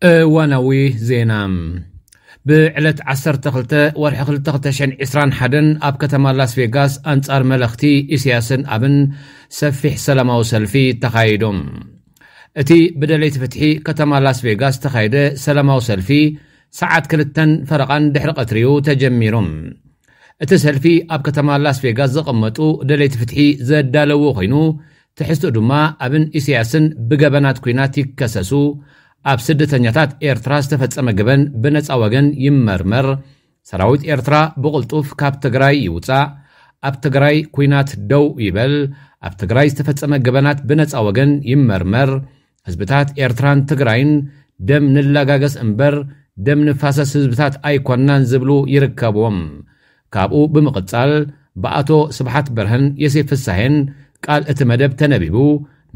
እዋናዊ ዜና። ብዕለት ዓሰርተ ክልተ ወርሒ ክልተ ክልተ ሽሕን ዕስራን ሓደን ኣብ ከተማ ላስ ቬጋስ ኣንጻር መለኽቲ ኢሳያስን ኣብን ሰፊሕ ሰላማዊ ሰልፊ ተኻይዱ። እቲ ብደለይቲ ፍትሒ ከተማ ላስ ቬጋስ ዝተኻየደ ሰላማዊ ሰልፊ ሰዓት ክልተን ፈረቓን ድሕሪ ቀትሪኡ ተጀሚሩ። እቲ ሰልፊ ኣብ ከተማ ላስ ቬጋስ ዝቕመጡ ደለይቲ ፍትሒ ዘዳለዎ ኮይኑ፣ ትሕዝትኡ ድማ ኣብን ኢሳያስን ብገበናት ኲናት ይከሰሱ፣ ኣብ ስደተኛታት ኤርትራ ዝተፈጸመ ገበን ብነጻ ወገን ይመርመር፣ ሰራዊት ኤርትራ ብቕልጡፍ ካብ ትግራይ ይውጻእ፣ ኣብ ትግራይ ኲናት ደው ይበል፣ ኣብ ትግራይ ዝተፈጸመ ገበናት ብነጻ ወገን ይመርመር፣ ህዝብታት ኤርትራን ትግራይን ደም ንላጋገስ እምበር ደም ንፋሰስ ህዝብታት ኣይኮናን ዝብሉ ይርከብዎም። ካብኡ ብምቕጻል ብኣቶ ስብሓት በርሀን የሴፍ ፍሳሄን ቃል እቲ መደብ ተነቢቡ።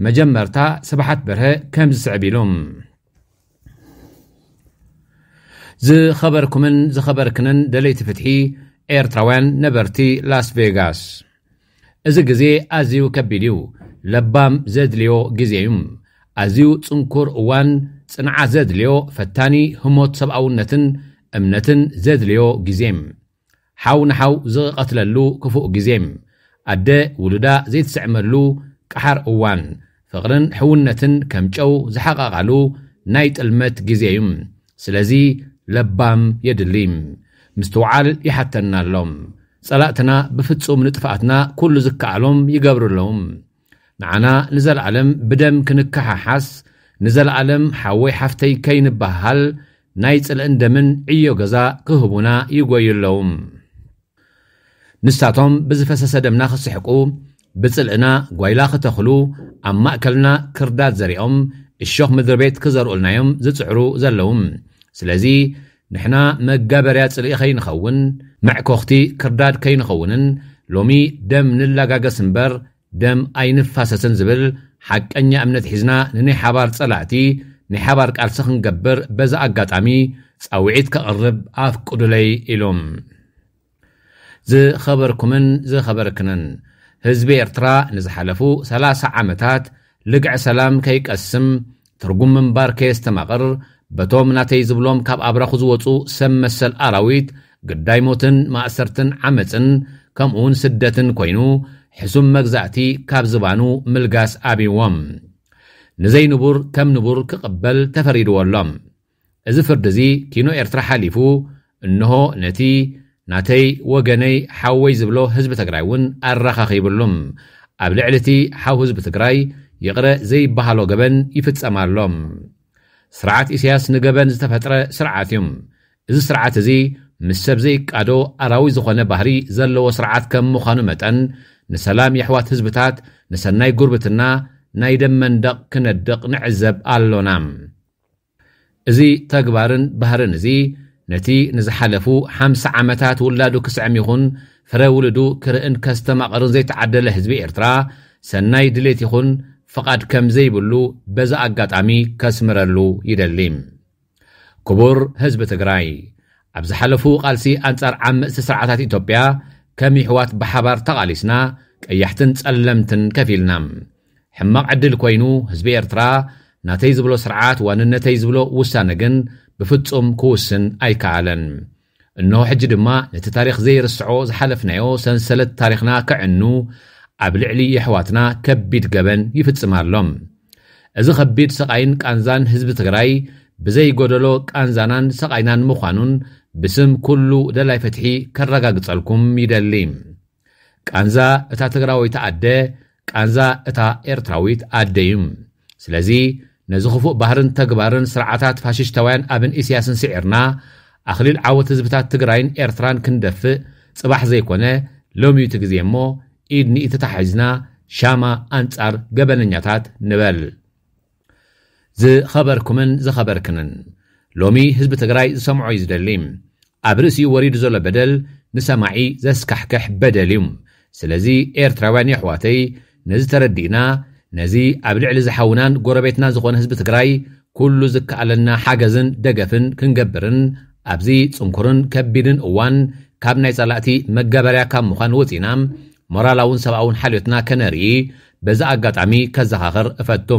መጀመርታ ስብሓት በርሀ ከም ዝስዕብ ኢሉ። ዝኸበርኩምን ዝኸበርክንን ደለይቲ ፍትሒ ኤርትራውያን ነበርቲ ላስ ቬጋስ፣ እዚ ግዜ ኣዝዩ ከቢድ እዩ። ለባም ዘድልዮ ግዜ እዩ። ኣዝዩ ጽንኩር እዋን፣ ጽንዓት ዘድልዮ፣ ፈታኒ ህሞት ሰብኣውነትን እምነትን ዘድልዮ ግዜ። ሓው ንሓው ዝቐትለሉ ክፉእ ግዜ። ኣደ ውሉዳ ዘይትስዕመሉ ቀሓር እዋን። ፍቕርን ሕውነትን ከም ጨው ዝሓቓቓሉ ናይ ጥልመት ግዜ እዩ። ስለዚ ለባም የድሊ። ምስትውዓል ይሓተና ኣሎ። ጸላእትና ብፍጹም ንጥፍኣትና ኩሉ ዝከኣሎም ይገብሩ ኣለዉ። ንዓና ንዘለኣለም ብደም ክንከሓሓስ፣ ንዘለኣለም ሓወይ ሓፍተይ ከይንበሃል ናይ ጽልእን ደምን ዕዮ ገዛ ክህቡና ይጎዩ ኣለዉ። ንሳቶም ብዝፈሰሰ ደምና ክስሕቁ፣ ብጽልእና ጓይላ ክተኽሉ፣ ኣብ ማእከልና ክርዳድ ዘሪኦም እሾኽ ምድሪ ቤት ክዘርእልናዮም ዝጽዕሩ ዘለዉ። ስለዚ ንሕና መጋበርያ ጽልኢ ከይንኸውን፣ መዕኮኽቲ ክርዳድ ከይንኸውንን ሎሚ ደም ንላጋገስ እምበር ደም ኣይንፋሰስን ዝብል ሓቀኛ እምነት ሒዝና ንናይ ሓባር ጸላእቲ ናይ ሓባር ቃልሲ ክንገብር በዚ ኣጋጣሚ ጻውዒት ከቕርብ ኣፍቅዱለይ ኢሉ። ዝኸበርኩምን ዝኸበርክንን፣ ህዝቢ ኤርትራ ንዝሓለፉ ሰላሳ ዓመታት ልግዕ ሰላም ከይቀስም፣ ትርጉም ምንባር ከየስተማቕር፣ በቶም ናተይ ዝብሎም ካብ ኣብራኹ ዝወጹ ሰብ መሰል ኣራዊት ግዳይ ሞትን ማእሰርትን ዓመጽን ከምኡውን ስደትን ኮይኑ፣ ሕሱም መግዛእቲ ካብ ዝባኑ ምልጋስ ኣብይዎም። ንዘይንቡር ከም ንቡር ክቕበል ተፈሪድዎ ኣሎ። እዚ ፍርዲ እዚ ኪኖ ኤርትራ ሓሊፉ፣ እንሆ ነቲ ናተይ ወገነይ ሓወይ ዝብሎ ህዝቢ ትግራይ እውን ኣረኻኺብሉ። ኣብ ልዕሊ እቲ ሓው ህዝቢ ትግራይ ይቕረ ዘይበሃሎ ገበን ይፍጸም ኣሎ። ስርዓት ኢሳያስ ንገበን ዝተፈጥረ ስርዓት እዩ። እዚ ስርዓት እዚ ምስ ሰብ ዘይቃዶ ኣራዊት ዝኾነ ባህሪ ዘለዎ ስርዓት ከም ምዃኑ መጠን፣ ንሰላም የሕዋት ህዝብታት፣ ንሰናይ ጉርብትና ናይ ደም መንደቕ ክነድቕ ንዕዘብ ኣሎና። እዚ ተግባርን ባህርን እዚ ነቲ ንዝሓለፉ ሓምሳ ዓመታት ውላዱ ክስዕም ይኹን ፍረ ውሉዱ ክርእን ከስተማቕርን ዘይተዓደለ ህዝቢ ኤርትራ ሰናይ ድሌት ይኹን ፍቓድ ከም ዘይብሉ በዚ ኣጋጣሚ ከስምረሉ ይደሊ። ክቡር ህዝቢ ትግራይ፣ ኣብ ዝሓለፉ ቃልሲ ኣንጻር ዓመጽቲ ስርዓታት ኢትዮጵያ ከም ይሕዋት ብሓባር ተቓሊስና፣ ቀያሕትን ጸለምትን ከፊልና። ሕማቕ ዕድል ኮይኑ ህዝቢ ኤርትራ ናተይ ዝብሎ ስርዓት ዋንነተይ ዝብሎ ውሳነ ግን ብፍጹም ክውስን ኣይከኣለን። እንሆ ሕጂ ድማ ነቲ ታሪኽ ዘይርስዖ ዝሓለፍናዮ ሰንሰለት ታሪኽና ከዕኑ ኣብ ልዕሊ የሕዋትና ከቢድ ገበን ይፍጽም ኣሎ። እዚ ከቢድ ስቓይን ቃንዛን ህዝቢ ትግራይ ብዘይጎደሎ ቃንዛናን ስቓይናን ምዃኑን ብስም ኩሉ ደላይ ፍትሒ ከረጋግጸልኩም ይደሊ። ቃንዛ እታ ትግራወይቲ ኣደ፣ ቃንዛ እታ ኤርትራዊት ኣደ እዩ። ስለዚ ነዚ ክፉእ ባህርን ተግባርን ስርዓታት ፋሽስታውያን ኣብን ኢሳያስን ስዒርና፣ ኣኽሊል ዓወት ህዝብታት ትግራይን ኤርትራን ክንደፍእ ጽባሕ ዘይኮነ ሎሚ እዩ እቲ ግዜ እሞ፣ ኢድ ንኢድ ተታሒዝና ሻማ ኣንጻር ገበነኛታት ንበል። ዝኸበርኩምን ዝኸበርክንን፣ ሎሚ ህዝቢ ትግራይ ዝሰምዖ እዩ ዝደሊ። ኣብ ርእሲኡ ወሪዱ ዘሎ በደል ንሰማዒ ዘስካሕክሕ በደል እዩ። ስለዚ ኤርትራውያን የሕዋተይ፣ ነዚ ተረዲእና፣ ነዚ ኣብ ልዕሊ ዝሓውናን ጎረቤትና ዝኾነ ህዝቢ ትግራይ ኩሉ ዝከኣለና ሓገዝን ደገፍን ክንገብርን፣ ኣብዚ ጽንኩርን ከቢድን እዋን ካብ ናይ ጸላእቲ መጋበርያ ካብ ምዃን ወጺና፣ ሞራላውን ሰብኣውን ሓልዮትና ከነርኢ በዚ ኣጋጣሚ ከዘኻኽር እፈቱ።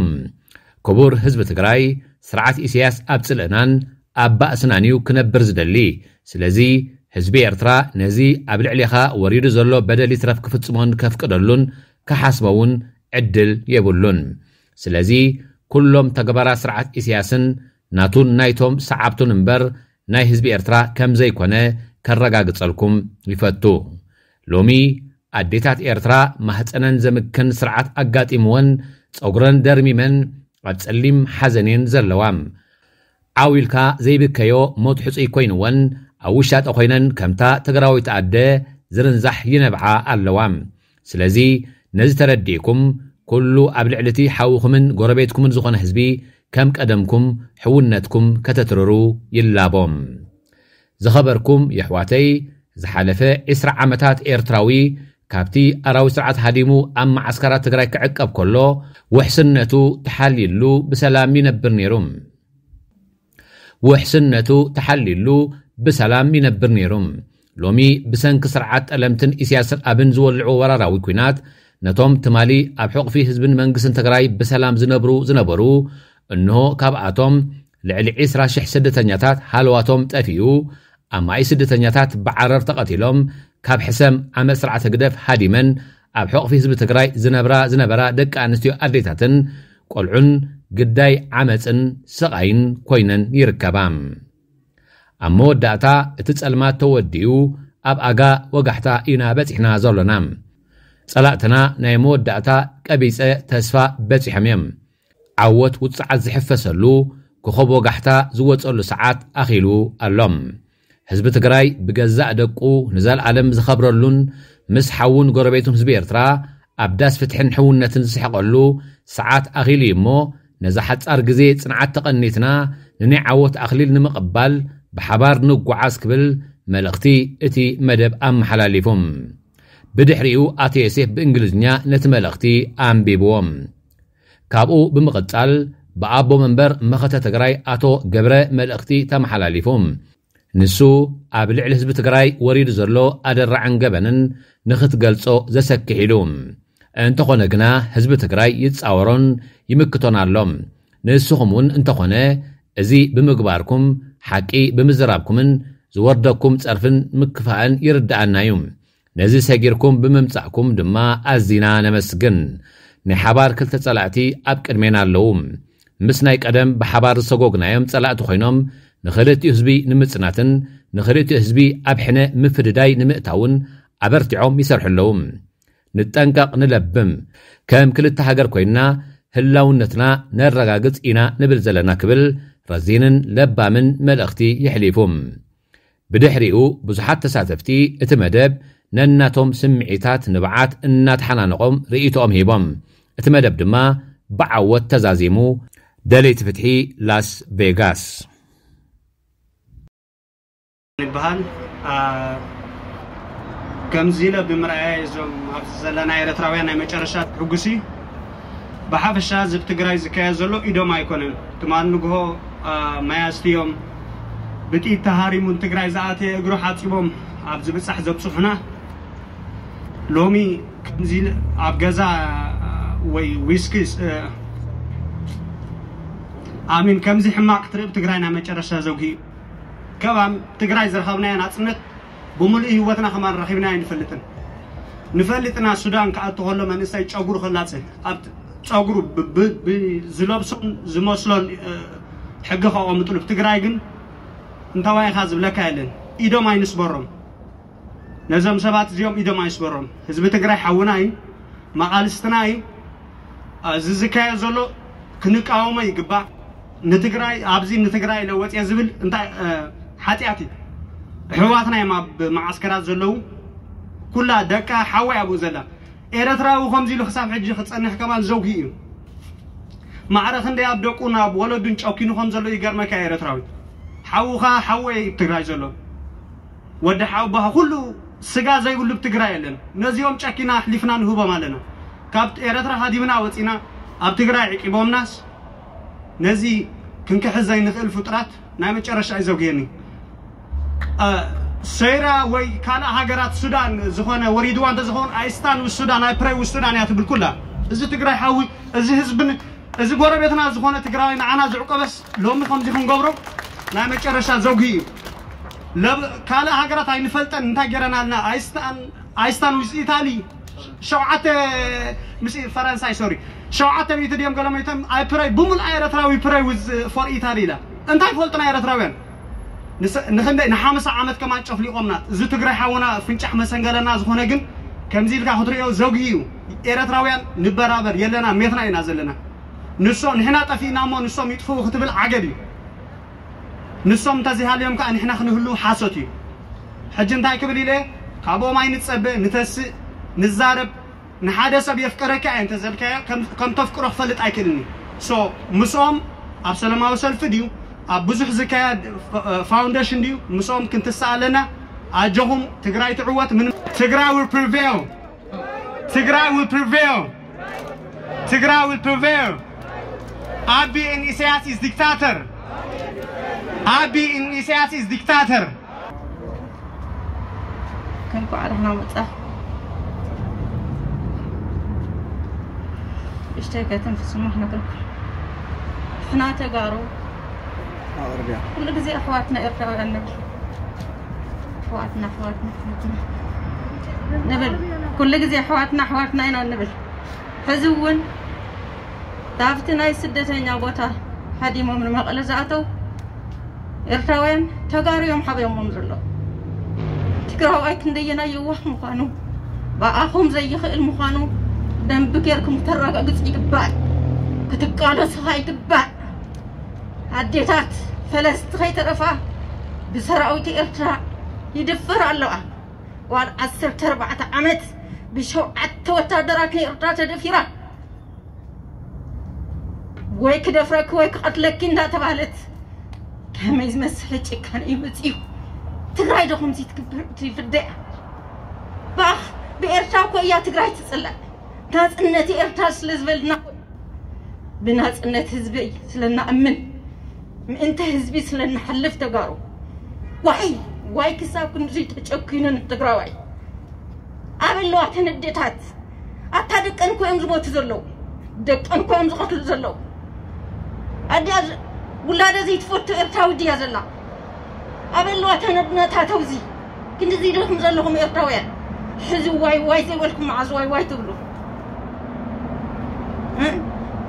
ክቡር ህዝቢ ትግራይ፣ ስርዓት ኢሳያስ ኣብ ጽልእናን ኣብ ባእስናን እዩ ክነብር ዝደሊ። ስለዚ ህዝቢ ኤርትራ ነዚ ኣብ ልዕሌኻ ወሪዱ ዘሎ በደል ይትረፍ ክፍጽሞን ከፍቅደሉን ክሓስቦ እውን ዕድል የብሉን። ስለዚ ኩሎም ተግባራት ስርዓት ኢሳያስን ናቱን ናይቶም ሰዓብቱን እምበር ናይ ህዝቢ ኤርትራ ከም ዘይኮነ ከረጋግጸልኩም ይፈቱ። ሎሚ ኣዴታት ኤርትራ ማህፀነን ዘምክን ስርዓት ኣጋጢምወን ጸጉረን ደርሚመን ኣብ ጸሊም ሓዘን እየን ዘለዋ። ዓው ኢልካ ዘይብከዮ ሞት ሕጹይ ኮይንወን ኣብ ውሻጠ ኮይነን ከምታ ትግራዊት ኣደ ዝርንዛሕ ይነብዓ ኣለዋ። ስለዚ ነዚ ተረዲእኩም ኩሉ ኣብ ልዕሊ እቲ ሓውኹምን ጎረቤትኩምን ዝኾነ ህዝቢ ከም ቀደምኩም ሕውነትኩም ከተትርሩ ይላቦም። ዝኸበርኩም የሕዋተይ፣ ዝሓለፈ ዕስራ ዓመታት ኤርትራዊ ካብቲ ኣራዊ ስርዓት ሃዲሙ ኣብ መዓስከራት ትግራይ ክዕቀብ ከሎ ውሕስነቱ ተሓልይሉ ብሰላም ይነብር ነይሩ። ውሕስነቱ ተሓልይሉ ብሰላም ይነብር ነይሩ። ሎሚ ብሰንኪ ስርዓት ጠለምትን ኢሳያስን ኣብን ዝወልዕዎ ወራራዊ ኲናት ነቶም ትማሊ ኣብ ሕቑፊ ህዝብን መንግስትን ትግራይ ብሰላም ዝነብሩ ዝነበሩ እንሆ ካብኣቶም ልዕሊ ዕስራ ሽሕ ስደተኛታት ሃለዋቶም ጠፊኡ፣ ኣማኢ ስደተኛታት ብዓረር ተቐቲሎም፣ ካብ ሕሰም ዓመት ስርዓት ህግደፍ ሃዲመን ኣብ ሕቑፊ ህዝቢ ትግራይ ዝነብራ ዝነበራ ደቂ ኣንስትዮ ኣዴታትን ቆልዑን ግዳይ ዓመፅን ስቓይን ኮይነን ይርከባ። ኣብ መወዳእታ እቲ ጸልማት ተወዲኡ ኣብ ኣጋ ወጋሕታ ኢና በጺሕና ዘሎና። ጸላእትና ናይ መወዳእታ ቀቢጸ ተስፋ በጺሖም እዮም። ዓወት ውጽዓት ዝሕፈሰሉ ኮኸብ ወጋሕታ ዝወጸሉ ሰዓት ኣኺሉ ኣሎ። ህዝቢ ትግራይ ብገዛእ ደቁ ንዘለኣለም ዝኸብረሉን ምስ ሓውን ጎረቤቱን ህዝቢ ኤርትራ ኣብ ዳስ ፍትሕን ሕውነትን ዝስሕቐሉ ሰዓት ኣኺሉ እዩ እሞ ነዛ ሓጻር ግዜ ጽንዓት ተቐኒትና ንናይ ዓወት ኣኽሊል ንምቕባል ብሓባር ንጓዓዝ ክብል መልእኽቲ እቲ መደብ ኣመሓላሊፉ። ብድሕሪኡ ኣቶ ዮሴፍ ብእንግሊዝኛ ነቲ መልእኽቲ ኣንቢብዎ። ካብኡ ብምቕጻል ብኣቦ መንበር መኸተ ትግራይ ኣቶ ገብረ መልእኽቲ ተመሓላሊፉ። ንሱ ኣብ ልዕሊ ህዝቢ ትግራይ ወሪዱ ዘሎ ኣደራዕን ገበንን ንኽትገልጾ ዘሰክሕ ኢሉ። እንተኾነ ግና ህዝቢ ትግራይ ይጻወሮን ይምክቶን ኣሎ። ንስኹም እውን እንተኾነ እዚ ብምግባርኩም ሓቂ ብምዝራብኩምን ዝወርደኩም ጸርፍን ምክፋእን ይርድኣና እዩ። ነዚ ሰጊርኩም ብምምጻእኩም ድማ ኣዚና ነመስግን። ናይ ሓባር ክልተ ጸላእቲ ኣብ ቅድሜና ኣለዉ። ምስ ናይ ቀደም ብሓባር ዝሰጎግናዮም ጸላእቲ ኮይኖም ንኽልቲኡ ህዝቢ ንምጽናትን ንኽልቲኡ ህዝቢ ኣብ ሕነ ምፍድዳይ ንምእታውን ኣበርቲዖም ይሰርሑ ኣለዉ። ንጠንቀቕ ንለብም። ከም ክልተ ሃገር ኮይንና ህላውነትና ነረጋግጽ ኢና ንብል ዘለና ክብል ረዚንን ለባምን መልእኽቲ የሕሊፉ። ብድሕሪኡ ብዙሓት ተሳተፍቲ እቲ መደብ ነናቶም ስምዒታት ንብዓት እናተሓናነቖም ርእይቶኦም ሂቦም። እቲ መደብ ድማ ብዓወት ተዛዚሙ። ደለይቲ ፍትሒ ላስ ቬጋስ። ይበሃል። ከምዚ ኢለ ብምርኣያ እዞም ኣብዚ ዘለና ኤርትራውያን ናይ መጨረሻ ሕጉሲ። ብሓፈሻ እዚ ኣብ ትግራይ ዝካየድ ዘሎ ኢዶም ኣይኮነን። ትማል ንግሆ ማይ ኣስትዮም ብጥይት ተሃሪሙ ንትግራይ ዝኣተየ እግሩ ሓፂቦም ኣብ ዝብፃሕ ዘብፅሑና። ሎሚ ከምዚ ኣብ ገዛ ወይ ዊስኪ ኣሚን ከምዚ ሕማቕ ክትርኢ ትግራይ ናይ መጨረሻ ዘጉሂ እዩ። ከባም ትግራይ ዝረኸብናዮ ናፅነት ብምሉእ ህይወትና ከማን ረኺብናዮ ንፈልጥን ንፈልጥና። ሱዳን ክኣቱ ከሎ መንእሰይ ጨጉሩ ከላፀ ኣብ ጨጉሩ ዝለብሶን ዝመስሎን ሕጊ ከቐምጥሉ። ትግራይ ግን እንታዋይ ኢኻ ዝብለካ የለን። ኢዶም ኣይንስበሮም። ነዞም ሰባት እዚኦም ኢዶም ኣይስበሮም። ህዝቢ ትግራይ ሓውና እዩ፣ መቓልስትና እዩ። እዚ ዝካየድ ዘሎ ክንቃወሞ ይግባእ። ንትግራይ ኣብዚ ንትግራይ ኢለ ወፅየ ዝብል እንታይ ሓጢኣት እዩ? ኣሕዋትና እዮም ኣብ መዓስከራት ዘለዉ። ኩላ ደቃ ሓወይ ኣብኡ ዘላ። ኤረትራዊ ከምዚ ኢሉ ክሳብ ሕጂ ክጸንሕ ከማን ዘውጊ እዩ። ማዕረ ክንደይ ኣብ ደቁን ኣብ ወለዱን ጨኪኑ ከም ዘሎ ይገርመካ። ኤረትራዊ ሓውኻ ሓወይ ትግራይ ዘሎ ወዲ ሓውባኻ ኩሉ ስጋ ዘይብሉ ብትግራይ የለን። ነዚኦም ጨኪና ኣሕሊፍና ንህቦም ኣለና። ካብ ኤረትራ ሃዲምና ወጺና ኣብ ትግራይ ዕቂቦምናስ ነዚ ክንክሕዝ ዘይንኽእል ፍጡራት ናይ መጨረሻ እዩ ዘውግየኒ። ሰይራ ወይ ካልእ ሃገራት ሱዳን ዝኾነ ወሪድዋ እንተዝኸውን ኣይስታን ውስ ሱዳን ኣይፕረይ ውስ ሱዳን እያ ትብል ኩላ። እዚ ትግራይ ሓዊ እዚ ህዝብን እዚ ጎረቤትና ዝኾነ ትግራዊ ንዓና ዝዕቆበስ ሎሚ ከምዚ ክንገብሮ ናይ መጨረሻ ዘጉሂ እዩ። ካልእ ሃገራት ኣይንፈልጠን፣ እንታይ ገይረናልና? ኣይስታን ዊዝ ኢታሊ ሸውዓተ ምስ ፈረንሳይ ሶሪ ሸውዓተ ሚእቲ ድዮም ገለመይቶም ኣይ ፕረይ ብምሉኣ ኤረትራዊ ፕረይ ዊዝ ፎር ኢታሊ ኢላ። እንታይ ፈልጡና ኤረትራውያን? ንኽንደይ ንሓምሳ ዓመት ከማን ጨፍሊቖምና። እዚ ትግራይ ሓውና ፍንጫሕ መሰንገለና ዝኾነ ግን ከምዚ ኢልካ ክትሪኦ ዘጉሂ እዩ። ኤረትራውያን ንበራበር የለና ሜትና ኢና ዘለና። ንሶም ንሕና ጠፊእና እሞ ንሶም ይጥፍኡ ክትብል ዓገብ እዩ። ንሶም እንተዘይሃልዮም ከዓ ንሕና ክንህሉ ሓሶት እዩ። ሕጂ እንታይ ክብል ኢለ ካብኦም ኣይንጸበ ንተስእ ንዛረብ። ንሓደ ሰብ የፍቀረካ እየ እንተዘልካዮ ከም ተፍቅሮ ክፈልጥ ኣይክእልን እዩ። ሶ ምስኦም ኣብ ሰላማዊ ሰልፊ ድዩ ኣብ ብዙሕ ዝካየድ ፋውንዴሽን ድዩ ምስኦም ክንትስእ ኣለና። ኣጆኹም ትግራይ ትዕወት። ምን ትግራይ will prevail. ትግራይ will prevail. ትግራይ will prevail. ኣቢ and ኢሳያስ is dictator. ኣቢ and ኢሳያስ is dictator. እንኳዕ ደህና መጻ። እሽተይ ከተንፍስሞ ክነግርኩም ሕና ተጋሩ ኩሉ ግዜ ኣሕዋትና ኤርትራውያን ንብል። ኣሕዋትና ኣሕዋትና ኣሕዋትና ንብል። ኩሉ ግዜ ኣሕዋትና ኣሕዋትና ኢና ንብል። ሕዚ እውን ካብቲ ናይ ስደተኛ ቦታ ሃዲሞም ንመቐለ ዝኣተው ኤርትራውያን ተጋሩ እዮም ሓቢኦሞም ዘለዉ። ትግራዋይ ክንደየናይ የዋህ ምዃኑ፣ ብኣኹም ዘይኽእል ምዃኑ ደንቢ ጌርኩም ክተረጋግጽ ይግባእ። ክትቃለሱ ይግባእ። ኣዴታት ፈለስቲ ከይተረፋ ብሰራዊት ኤርትራ ይድፈራ ኣለዋ። ጓል ዓሰርተ ኣርባዕተ ዓመት ብሸውዓተ ወታደራት ኤርትራ ተደፊራ። ወይ ክደፍረኪ ወይ ክቐትለኪ እንዳተባህለት ከመይ ዝመስል ጭካነ እዩ መፂኡ። ትግራይ ዶ ከምዚ ትግብር ትፍደያ? ባኽ ብኤርትራ እኮ እያ ትግራይ ትፅላእ። ናፅነት ኤርትራ ስለ ዝበልና እኮ እዩ። ብናፅነት ህዝቢ ስለ እናእምን ምእንተ ህዝቢ ስለ እንሓልፍ ተጋሩ ዋይ ዋይ ክሳብ ክንድዚ ተጨኪኑን ትግራዋይ ኣበለዋ ተን ኣዴታት ኣታ ደቀን እኮ እዮም ዝሞቱ ዘለዉ። ደቀን እኮ እዮም ዝቐትሉ ዘለዉ። ኣዲኣ ውላደ ዘይትፈቱ ኤርትራዊ ድያ ዘላ? ኣበለዋ ተን ኣድነታት ኣብዚ ክንድዚ ኢልኩም ዘለኹም ኤርትራውያን ሕዚ ዋይ ዋይ ዘይበልኩም መዓዝ ዋይ ዋይ ትብሉ?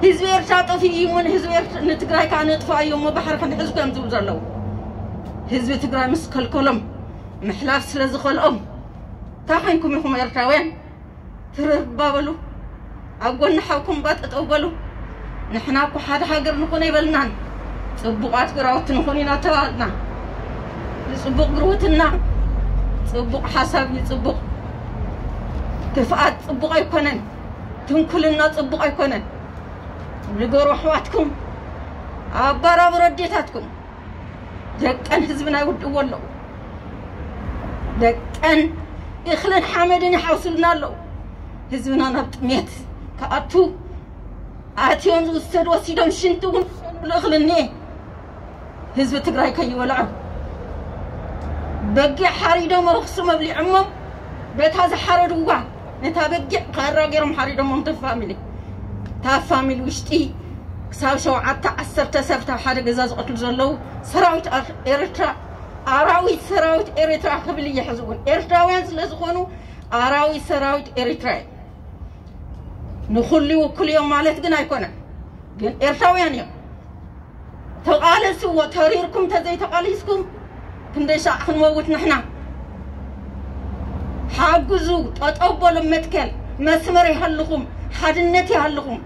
ህዝቢ ኤርትራ ጠፊኡ እዩ እሞ ንህዝቢ ኤርትራ ንትግራይ ከዓ ነጥፋ እዩ እሞ ባሕሪ ክንሕዝ እዮም ዝብሉ ዘለዉ። ህዝቢ ትግራይ ምስ ከልከሎም ምሕላፍ ስለ ዝኸልኦም እንታይ ኮይንኩም ኢኹም ኤርትራውያን? ትርርባ በሉ። ኣብ ጎኒ ሓውኩም ባ ጠጠው በሉ። ንሕና እኮ ሓደ ሃገር ንኹን ኣይበልናን። ፅቡቓት ግራውቲ ንኹን ኢና ተባሃልና። ንፅቡቕ ግርውትና ፅቡቕ ሓሳብ እዩ ፅቡቕ። ክፍኣት ፅቡቕ ኣይኮነን። ትንኩልና ፅቡቕ ኣይኮነን። ንገሩ ኣሕዋትኩም ኣባራብሩ ኣዴታትኩም። ደቀን ህዝብና ይውድእዎ ኣለዉ። ደቀን እኽልን ሓመድን ይሓውሱልና ኣለዉ። ህዝብና ናብ ጥሜት ክኣቱ ኣትዮም ዝውሰድ ወሲዶም ሽንቲ እውን ዝሸንሉ እኽሊ እኒኤ ህዝቢ ትግራይ ከይበልዖ በጊዕ ሓሪዶም ኣኽሱም ኣብሊዖሞም በታ ዝሓረድዋ ነታ በጊዕ ካራ ገይሮም ሓሪዶሞም እታ ፋሚሊ እታ ፋሚሊ ውሽጢ ክሳብ ሸውዓተ ዓሰርተ ሰብ ኣብ ሓደ ገዛ ዝቐትሉ ዘለዉ ሰራዊት ኤርትራ ኣራዊት ሰራዊት ኤርትራ ክብል እየ ሕዚ እውን ኤርትራውያን ስለ ዝኾኑ ኣራዊት ሰራዊት ኤርትራ እዩ። ንኹሉ ይውክሉ እዮም ማለት ግን ኣይኮነን። ግን ኤርትራውያን እዮም። ተቓለስዎ ተሪርኩም ተዘይተቓሊስኩም ክንደይ ሻዕ ክንመውት ንሕና። ሓግዙ፣ ጠጠው በሉ መትከል መስመር ይሃልኹም፣ ሓድነት ይሃልኹም።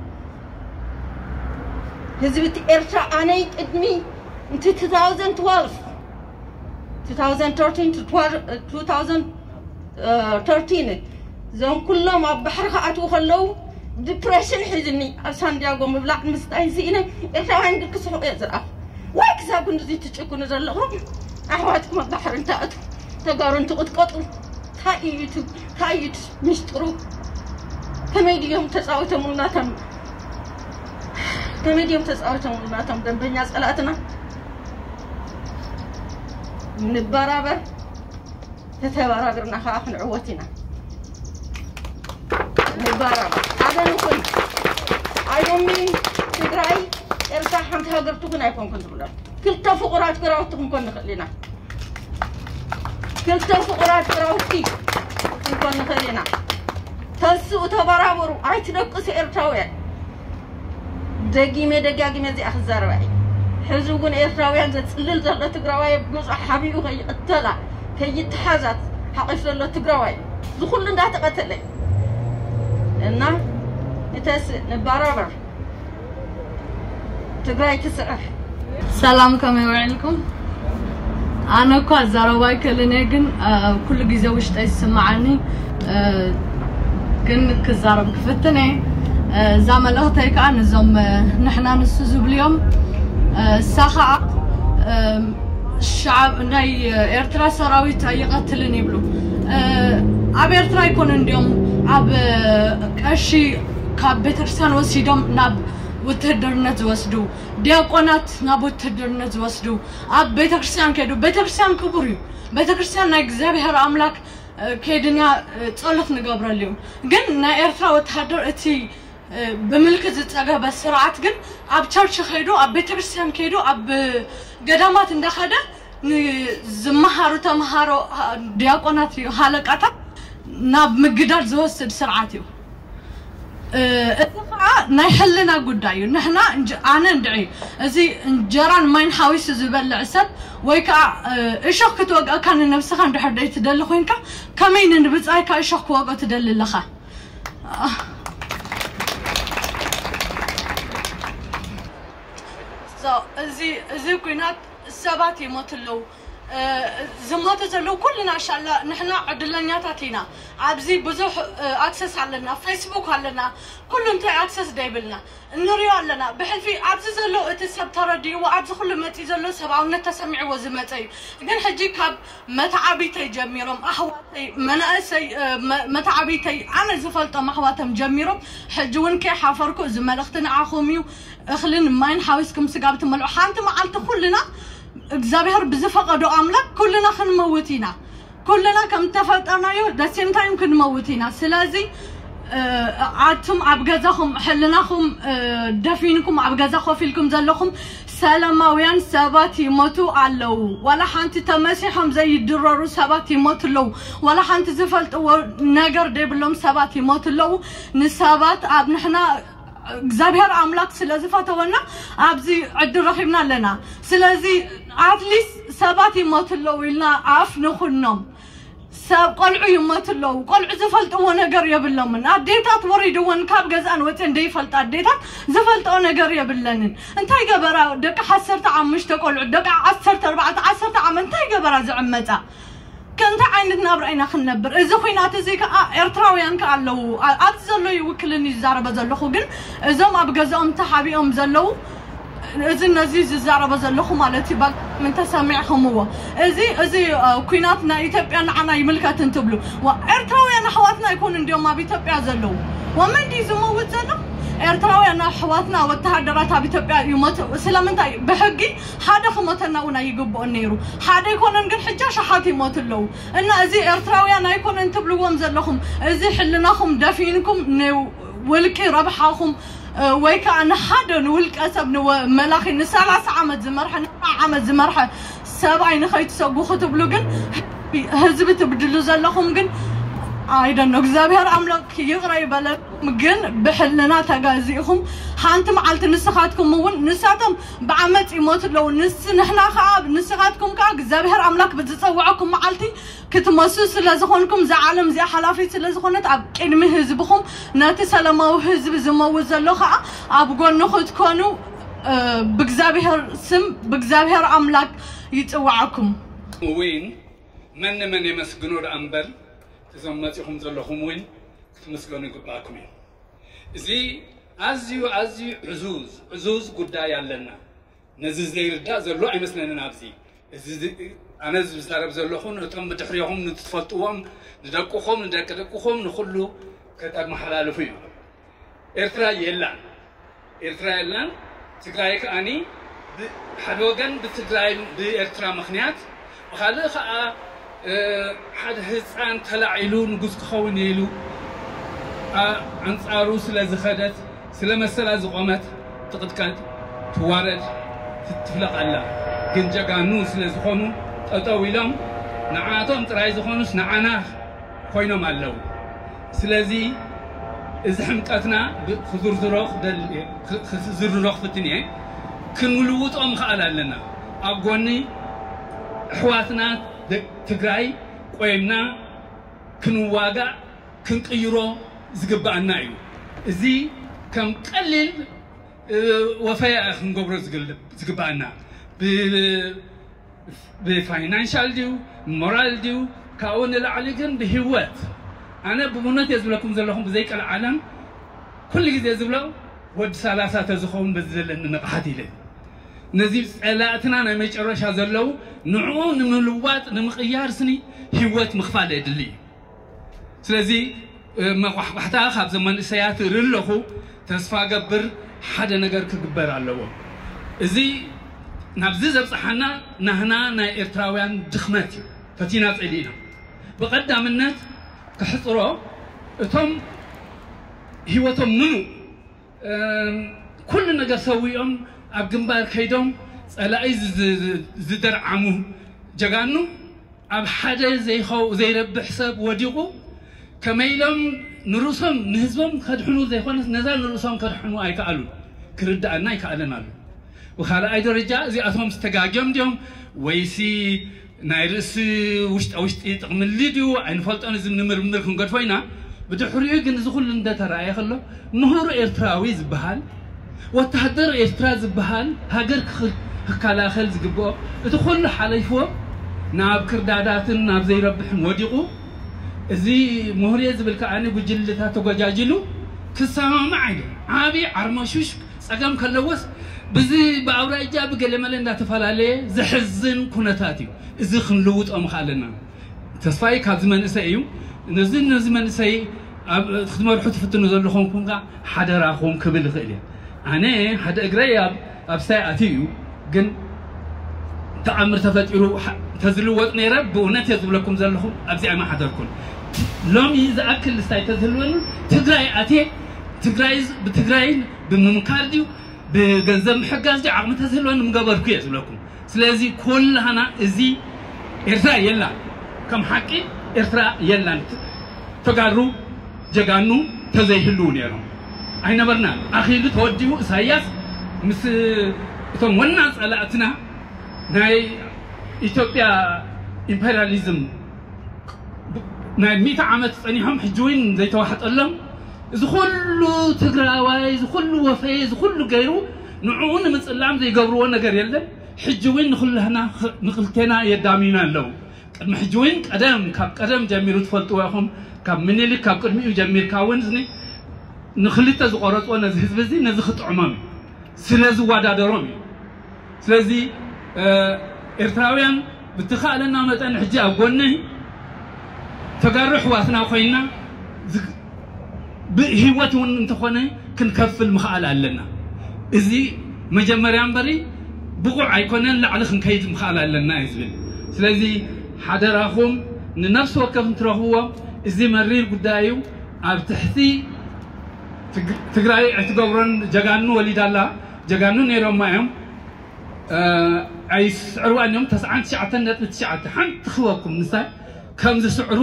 ህዝቢ ኤርትራ ኣነይ ቅድሚ እቲ two thousand twelve two thousand thirteen to two thousand thirteen እዞም ኩሎም ኣብ ባሕሪ ክኣትዉ ከለዉ ዲፕሬሽን ሒዝኒ ኣብ ሳንዲያጎ ምብላዕ ምስታይ ስኢነ ኤርትራውያን ግን ክስሕቑ እየ ዝረኣኹ። ዋይ ክሳብ ክንድዚ ትጭክኑ ዘለኹም ኣሕዋትኩም ኣብ ባሕሪ እንትኣትዉ ተጋሩ እንትቕጥቀጡ እንታይ እዩ እቲ እንታይ እዩ እቲ ሚስጥሩ? ከመይ ድዮም ተፃዊቶምሉ ናቶም ከመይ ድዮም ተፃዊቶምሉ ናቶም ደንበኛ ፀላእትና? ንበራበር ተተባራብርና ከዓ ክንዕወት ኢና። ንበራበር ሓደ ንኹን ኣይዶሚ ትግራይ ኤርትራ ሓንቲ ሃገር ትኹን ኣይኮንኩን ትብሎ። ክልተ ፍቑራት ግራውቲ ክንኮን ንኽእል ኢና። ክልተ ፍቑራት ግራውቲ ክንኮን ንኽእል ኢና። ተስኡ፣ ተበራበሩ፣ ኣይትደቅሱ ኤርትራውያን። ደጊመ ደጋጊመ እዚኣ ክዛረባ እየ። ሕዚ እውን ኤርትራውያን ዘፅልል ዘሎ ትግራዋይ ብዙሕ ሓቢኡ ከይቅተላ ከይተሓዛት ሓቂፍ ዘሎ ትግራዋይ ዝኩሉ እንዳተቀተለ እና ንተስ ንባራበር ትግራይ ትስዕር። ሰላም፣ ከመይ ውዒልኩም? ኣነ እኳ ኣዛረባ ኣይክእልን እየ፣ ግን ኩሉ ግዜ ውሽጠይ ዝስምዓኒ ግን ክዛረብ ክፍትን እየ። እዛ መልእኽተይ ከዓ ንዞም ንሕና ንሱ ዝብልዮም እሳ ከዓ ሻዕብ ናይ ኤርትራ ሰራዊት ኣይቐትልን ይብሉ። ኣብ ኤርትራ ኣይኮነ እንዲኦም ኣብ ቀሺ ካብ ቤተክርስትያን ወሲዶም ናብ ውትህድርነት ዝወስዱ፣ ዲያቆናት ናብ ውትህድርነት ዝወስዱ፣ ኣብ ቤተክርስትያን ከይዱ፣ ቤተክርስትያን ክቡር እዩ። ቤተክርስትያን ናይ እግዚኣብሔር ኣምላክ ከይድና ጸሎት ንገብረሉ እዩ። ግን ናይ ኤርትራ ወተሃደር እቲ ብምልክት ዝጸገበ ስርዓት ግን ኣብ ቸርች ከይዱ፣ ኣብ ቤተክርስትያን ከይዱ፣ ኣብ ገዳማት እንዳኸደ ንዝመሃሩ ተምሃሮ፣ ዲያቆናት እዩ፣ ሃለቃታት ናብ ምግዳል ዝወስድ ስርዓት እዩ። እዚ ከዓ ናይ ሕልና ጉዳይ እዩ። ንሕና ኣነ እንድዒ እዚ እንጀራን ማይን ሓዊሱ ዝበልዕ ሰብ ወይ ከዓ እሾኽ ክትወግአካ ንነብስኻ እንድሕር ደይ ትደሊ ኮይንካ ከመይ ንብፃይካ እሾኽ ክወግኦ ትደሊ ኣለኻ? እዚ ኩናት ሰባት ይሞቱ ኣለዉ። ዝሞቱ ዘለዉ ኩልና ሻላ ንሕና ዕድለኛታት ኢና። ኣብዚ ብዙሕ ኣክሰስ ኣለና፣ ፌስቡክ ኣለና፣ ኩሉ እንታይ ኣክሰስ ደይብልና እንሪኦ ኣለና። ብሕልፊ ኣብዚ ዘሎ እቲ ሰብ ተረዲእዎ ኣብዚ ኩሉ መፂ ዘሎ ሰብኣውነት ተሰሚዕዎ ዝመፀ እዩ። ግን ሕጂ ካብ መተዓቢተይ ጀሚሮም ኣሕዋተይ መናእሰይ መተዓቢተይ ኣነ ዝፈልጦም ኣሕዋቶም ጀሚሮም ሕጂ እውን ከይሓፈርኩ እዚ መልእኽቲ ንዓኹም እዩ። እኽልን ማይን ሓዊስኩም ስጋብ ትመልዑ ሓንቲ መዓልቲ ኩልና እግዚኣብሔር ብዝፈቐዶ ኣምላክ ኩልና ክንመውት ኢና። ኩልና ከም ተፈጠርናዮ ደሴም ታይም ክንመውት ኢና። ስለዚ ኣቱም ኣብ ገዛኹም ሕልናኹም ደፊንኩም ኣብ ገዛ ኮፍ ኢልኩም ዘለኹም ሰላማውያን ሰባት ይሞቱ ኣለዉ። ዋላ ሓንቲ ተመሲሖም ዘይድረሩ ሰባት ይሞቱ ኣለዉ። ዋላ ሓንቲ ዝፈልጥዎ ነገር ደይብሎም ሰባት ይሞቱ ኣለዉ። ንሰባት ኣብ ንሕና እግዚኣብሔር ኣምላክ ስለ ዝፈተወና ኣብዚ ዕድል ረኺብና ኣለና። ስለዚ ኣትሊስት ሰባት ይሞቱ ኣለዉ ኢልና ኣፍ ንኹኖም። ሰብ ቆልዑ ይሞቱ ኣለዉ። ቆልዑ ዝፈልጥዎ ነገር የብሎምን። ኣዴታት ወሪድወን ካብ ገዛን ወፅን ደይፈልጣ ኣዴታት ዝፈልጥኦ ነገር የብለንን። እንታይ ገበራ ደቂ ዓሰርተ ሓሙሽተ ቆልዑ ደቂ ዓሰርተ ኣርባዕተ ዓሰርተ ዓመት እንታይ ገበራ ዝዕመፃ? ከእንታይ ዓይነት ናብራ ኢና ክንነብር? እዚ ኩናት እዚ ከዓ ኤርትራውያን ከዓ ኣለዉ። ኣብዚ ዘሎ ይውክልን ይዛረበ ዘለኹ ግን እዞም ኣብ ገዛኦም ተሓቢኦም ዘለዉ እዚ ነዚ ዝዛረበ ዘለኹ ማለት እዩ። ባግምን ተሰሚዕኹምዎ እዚ እዚ ኩናት ናይ ኢትዮጵያ ንዓና ይምልከትን ትብሉ ዋ ኤርትራውያን ኣሕዋትና ይኮኑ እንዲዮም ኣብ ኢትዮጵያ ዘለዉ። ወመን ድዩ ዝመውት ዘሎ? ኤርትራውያን ኣሕዋትና ወተሃደራት ኣብ ኢትዮጵያ ይሞቱ። ስለምንታይ ብሕጊ ሓደ ክሞተና እውን ኣይግብኦን ነይሩ። ሓደ ኣይኮነን ግን ሕጂ ኣሽሓት ይሞቱ ኣለዉ። እና እዚ ኤርትራውያን ኣይኮነን ትብልዎም ዘለኹም እዚ ሕልናኹም ደፊንኩም ንውልቂ ረብሓኹም ወይ ከዓ ንሓደ ንውልቀ ሰብ ንመላኺ ንሰላሳ ዓመት ዝመርሐ ንኣርባዓ ዓመት ዝመርሐ ሰብኣይ ንኸይትሰጉ ክትብሉ ግን ህዝቢ ትብድሉ ዘለኹም ግን ኣይደኖ እግዚኣብሔር ኣምላክ ይቕረ ይበለኩም። ግን ብሕልና ተጋዚእኹም ሓንቲ መዓልቲ ንስኻትኩም እውን ንሳቶም ብዓመፅ ይሞቱ ኣለዉ። ንስ ንሕና ከዓ ንስኻትኩም ከዓ እግዚኣብሔር ኣምላክ ብዝፀውዐኩም መዓልቲ ክትመሱ ስለ ዝኾንኩም እዛ ዓለም እዚኣ ሓላፊት ስለ ዝኾነት ኣብ ቅድሚ ህዝብኹም ነቲ ሰላማዊ ህዝቢ ዝመውት ዘሎ ከዓ ኣብ ጎኑ ክትኮኑ ብእግዚኣብሔር ስም ብእግዚኣብሔር ኣምላክ ይፅውዓኩም። እውን መን ንመን የመስግኖ ደኣ እምበር እዞም መፂኹም ዘለኹም እውን ክትመስገኑ ይግባእኩም እዩ። እዚ ኣዝዩ ኣዝዩ ዕዙዝ ዕዙዝ ጉዳይ ኣለና። ነዚ ዘይርዳእ ዘሎ ኣይመስለንን። ኣብዚ እዚ ኣነ ዝዛረብ ዘለኹ ነቶም ብድሕሪኹም ንትፈልጥዎም ንደቅኹም ንደቂ ደቅኹም ንኹሉ ከተመሓላልፉ እዩ። ኤርትራ የላን። ኤርትራ የላን። ትግራይ ከኣኒ ሓደ ወገን ብትግራይ ብኤርትራ ምኽንያት ብኻልእ ከዓ ሓደ ህፃን ተላዒሉ ንጉስ ክኸውን ኢሉ ኣንፃሩ ስለ ዝኸደት ስለ መሰላ ዝቆመት ትቕጥቀጥ፣ ትዋረድ፣ ትትፍለቕ ኣላ። ግን ጀጋኑ ስለ ዝኾኑ ጠጠው ኢሎም ንዓቶም ጥራይ ዝኾኑስ ንዓና ኮይኖም ኣለዉ። ስለዚ እዚ ሕምቀትና ብ- ክዝርዝሮ ክደል- ክ- ክዝርዝሮ ክፍትን እየ። ክንልውጦ ምኽኣል ኣለና። ኣብ ጎኒ ኣሕዋትና ደ- ትግራይ ቆይምና ክንዋጋእ ክንቅይሮ ዝግባኣና እዩ። እዚ ከም ቀሊል ወፈያ ክንገብሮ ዝግባኣና ብፋይናንሻል ድዩ ሞራል ድዩ ካብኡ ንላዕሊ ግን ብህወት ኣነ ብእውነት እየ ዝብለኩም ዘለኹም ብዘይቀልዓለም ኩሉ ግዜ ዝብሎ ወዲ ሰላሳ ተዝኸውን በዚ ዘለኒ ንቕሓት ኢለ ነዚ ፀላእትና ናይ መጨረሻ ዘለዉ ንዕኡ ንምልዋጥ ንምቕያር ስኒ ህወት ምኽፋል የድሊ እዩ ስለዚ መቋሕቋሕታ ካብዞም መንእሰያት እርኢ ኣለኹ። ተስፋ ገብር ሓደ ነገር ክግበር ኣለዎ። እዚ ናብዚ ዘብፅሓና ናህና ናይ ኤርትራውያን ድኽመት እዩ። ፈቲና ፀሊእና። ብቐዳምነት ክሕፅሮ እቶም ህይወቶም ምሉእ ኩሉ ነገር ሰዊኦም ኣብ ግንባር ከይዶም ፀላኢ ዝደርዓሙ ጀጋኑ ኣብ ሓደ ዘይረብሕ ሰብ ወዲቑ ከመይ ኢሎም ንርእሶም ንህዝቦም ከድሕኑ ዘይኮነስ ነዛ ንርእሶም ከድሕኑ ኣይከኣሉን። ክርድኣና ኣይከኣለን ኣሎ። ብኻልኣይ ደረጃ እዚኣቶም ዝተጋግዮም ድዮም ወይሲ ናይ ርእሲ ውሽጣ ውሽጢ ጥቕሚ ድዩ ኣይንፈልጦን። እዚ ንምርምር ክንገድፎ ኢና። ብድሕሪኡ ግን እዚ ኩሉ እንደተረኣየ ከሎ ምሁር ኤርትራዊ ዝበሃል ወተሃደር ኤርትራ ዝበሃል ሃገር ክኸላኸል ዝግብኦ እቲ ኩሉ ሓለይፍዎ ናብ ክርዳዳትን ናብ ዘይረብሕን ወዲቑ እዚ ምሁርየ ዝብል ከኣ ጉጅልታት ተጎጃጅሉ ክሰማማዕ ኢሉ ዓብዪ ዓርመሹሽ ፀገም ከለዎስ ብዚ ብኣውራጃ ብገለመለ እንዳተፈላለየ ዘሕዝን ኩነታት እዩ። እዚ ክንልውጦ ምኽኣለና ተስፋይ ካብዚ መንእሰይ እዩ። ነዚ ነዚ መንእሰይ ኣብ ክትመርሑ ትፍትኑ ዘለኹም ኩንካ ሓደራኹም ክብል ይኽእል እየ። ኣነ ሓደ እግረይ ኣብ ኣብ ሳይ ኣትዩ እዩ ግን ተኣምር ተፈጢሩ ተዝልወጥ ነይረ ብእውነት እየ ዝብለኩም ዘለኹም ኣብዚ ኣይመሓደርኩን። ሎሚ ዝኣክል ስታይ ተዝህልወኒ ትግራይ ኣትየ ትግራይ ብትግራይ ብምምካር ድዩ ብገንዘብ ምሕጋዝ ድዩ ዓቕሚ ተዝህልወኒ ምገበርኩ እየ ዝብለኩም። ስለዚ ኩላህና እዚ ኤርትራ የላን ከም ሓቂ ኤርትራ የላን ተጋሩ ጀጋኑ ተዘይህልው ነይሮም ኣይነበርናን ኣኺሉ ተወዲኡ እሳያስ ምስ እቶም ወና ጸላእትና ናይ ኢትዮጵያ ኢምፔሪያሊዝም ናይ ሚእቲ ዓመት ጸኒሖም ሕጂ እውን ዘይተዋሕጠሎም እዚ ኩሉ ትግራዋይ እዚ ኩሉ ወፈየ እዚ ኩሉ ገይሩ ንዕኡ ንምፅላም ዘይገብርዎ ነገር የለን። ሕጂ እውን ንኩላህና ንክልቴና የዳምዩና ኣለዉ። ቅድሚ ሕጂ እውን ቀደም ካብ ቀደም ጀሚሩ ትፈልጥዎ ኢኹም። ካብ ምኒልክ ካብ ቅድሚኡ ጀሚርካ እውን እዚ ንክልተ ዝቆረፅዎ ነዚ ህዝቢ እዚ ነዚ ክጥዕሞም እዩ ስለ ዝወዳደሮም እዩ። ስለዚ ኤርትራውያን ብትኻእለና መጠን ሕጂ ኣብ ጎነይ ተጋሩ ኣሕዋትና ኮይና ብህይወት እውን እንተኾነ ክንከፍል ምኽኣል ኣለና። እዚ መጀመርያ እምበሪ ብቑዕ ኣይኮነን ላዕሊ ክንከይድ ምኽኣል ኣለና እዩ ዝብል። ስለዚ ሓደራኹም ንነፍሲ ወከፍ እንትረኽብዎ እዚ መሪር ጉዳይ እዩ። ኣብ ትሕቲ ትግራይ ኣይትገብሮን ጀጋኑ ወሊዳ ኣላ ጀጋኑ ነይሮማ እዮም ኣይስዕርዋን እዮም ተስዓን ትሽዓተን ነጥቢ ትሽዓተ ሓንቲ ክህበኩም ንሳ ከም ዝስዕሩ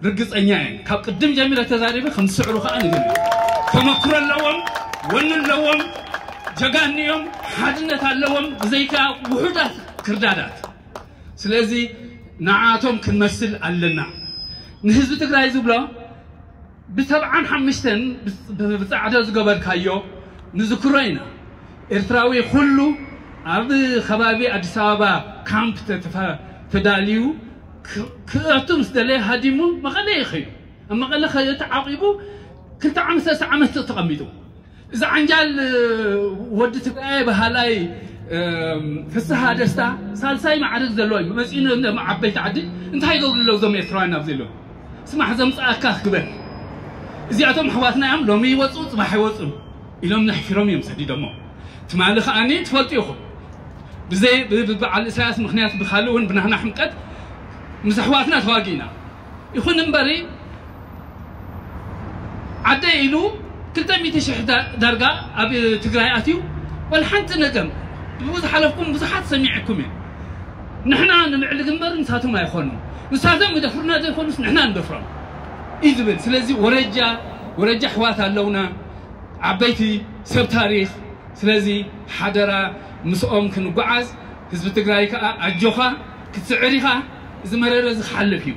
ርግፀኛ እየ ካብ ቅድም ጀሚረ ተዛሪበ ከም ዝስዕሩ ከዓ ንግር ተመክሮ ኣለዎም ወኒ ኣለዎም ጀጋን እዮም ሓድነት ኣለዎም ብዘይካ ውሑዳት ክርዳዳት ስለዚ ንዓቶም ክንመስል ኣለና ንህዝቢ ትግራይ ዝብሎ ብሰብዓን ሓሙሽተን ብፃዕዶ ዝገበርካዮ ንዝክሮ ኢና። ኤርትራዊ ኩሉ ኣብ ከባቢ ኣዲስ ኣበባ ካምፕ ተዳልዩ ክእቱ ምስ ደለየ ሃዲሙ መቐለ ይኸዩ። ኣብ መቐለ ተዓቂቡ ክልተ ዓመት ሰለስተ ዓመት ተቐሚጡ። እዚ ዓንጃል ወዲ ትግራይ በሃላይ ፍስሃ ደስታ ሳልሳይ ማዕርግ ዘለዎ እዩ መፂኡ ዓበይቲ ዓዲ እንታይ ይገብሩ ኣለዉ እዞም ኤርትራውያን ኣብዚ ኣለዉ ስማሕ ዘምፃኣካ ክግበር እዚኣቶም ኣሕዋትና እዮም ሎሚ ይወፁ ፅባሕ ይወፁ ኢሎም ነሕፊሮም እዮም ሰዲዶሞ ትማሊ ከዓኒ ትፈልጡ ኢኹም ብዘይ ብበዓል ኢሳያስ ምክንያት ብካልእ እውን ብናህና ሕምቀት ምስ ኣሕዋትና ተዋጊእና ይኹን እምበሪ ዓደ ኢሉ ክልተ ሚእቲ ሽሕ ዳርጋ ኣብ ትግራይ ኣትዩ ወላ ሓንቲ ነገር። ብዝሓለፍኩም ብዙሓት ሰሚዐኩም እየ። ንሕና ንምዕልግ እምበር ንሳቶም ኣይኾኑን። ንሳቶም ይደፍሩና ዘይኮኑስ ንሕና ንደፍሮም እዩ ዝብል። ስለዚ ወረጃ ወረጃ ኣሕዋት ኣለውና፣ ዓበይቲ ሰብ ታሪኽ። ስለዚ ሓደራ ምስኦም ክንጓዓዝ። ህዝቢ ትግራይ ከዓ ኣጆኻ፣ ክትስዕር ኢኻ። እዚ መረረ እዚ ክሓልፍ እዩ።